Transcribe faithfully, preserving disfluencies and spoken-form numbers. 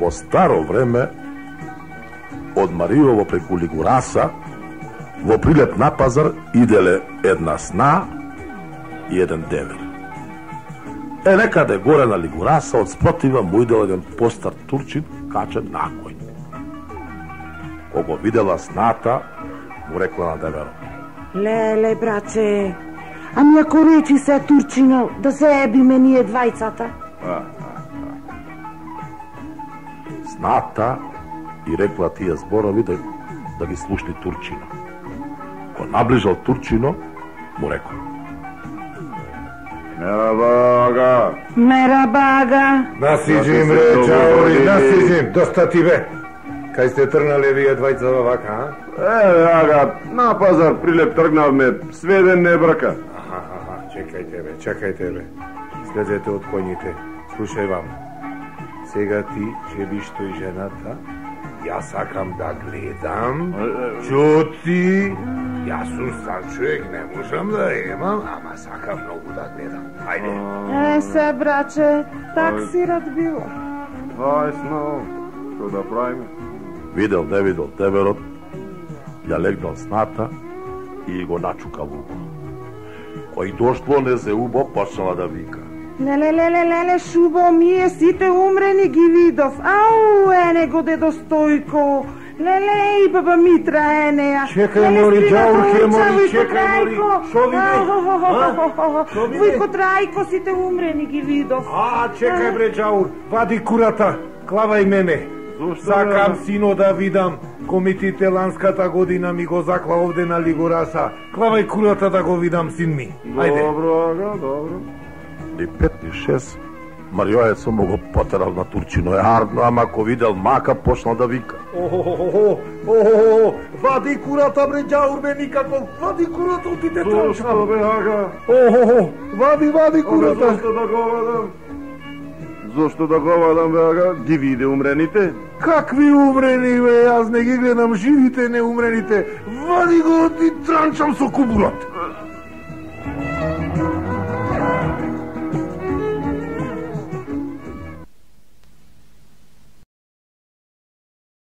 Во старо време, од Мариово преку Лигураса, во прилеп на пазар иделе една сна и еден девер. Е, некаде горе на Лигураса, од спротива му идел еден постар турчин, качен на коњ. Кога видела сната, му рекла на деверот: Леле, браче, ами ако речи се турчино да заебиме ние двајцата? А, а, а. Сната и рекла тие зборови да, да ги слушни турчино. Кога наближал турчино, му рекол: Мерабага! Мерабага! Насиđim, ре, чаори, насиđim, доста ти бе! Кај сте тргнале вие двајца во вака, а? Е, ага, на пазар прилеп тргнавме, сведен не брака. Аха, аха, чекајте бе, чекајте бе. Слезете од коњите, слушај вам. Сега ти ќе биш тој жената, јас сакам да гледам, чути, јас сум стар човек, не можам да имам, ама сакам многу да гледам. Ајде. Е, се, браче, так си рад било. Ајсно, што да правиме? Видел, не видел деверот, ја легнал сната и го начукал убо. Кој дошло не се убо, почнала да вика: Леле, леле, леле, шубо, мие сите умрени ги видов. Ау, ене го дедо Стојко. Леле, и баба Митра, ене ја. Чекај, мори, џаурке, мори, чекај, мори. Шо види? Вујко Трајко, сите умрени ги видов. А, чекај бре, џаур, вади курата, клавај мене. Сакам сино да видам, комитите ланската година ми го закла овде на Лигураса. Клавај курата да го видам, син ми. Ајде. Добро, ага, добро. Ни пет ни шест, Мариоецо му го потерал на турчино е ардно, ама ко видел мака, почнал да вика: Охо, охо, вади курата бре, џаур бе, никако, вади курата, отиде транчам. Зошто бе, ага? Охо, вади, вади курата. Зошто да го вадам? Зошто да го вадам, бе, ага? Ги виде умрените? Какви умрени, бе, јас не ги гледам живите, не умрените. Вади го, ти транчам со кубурат.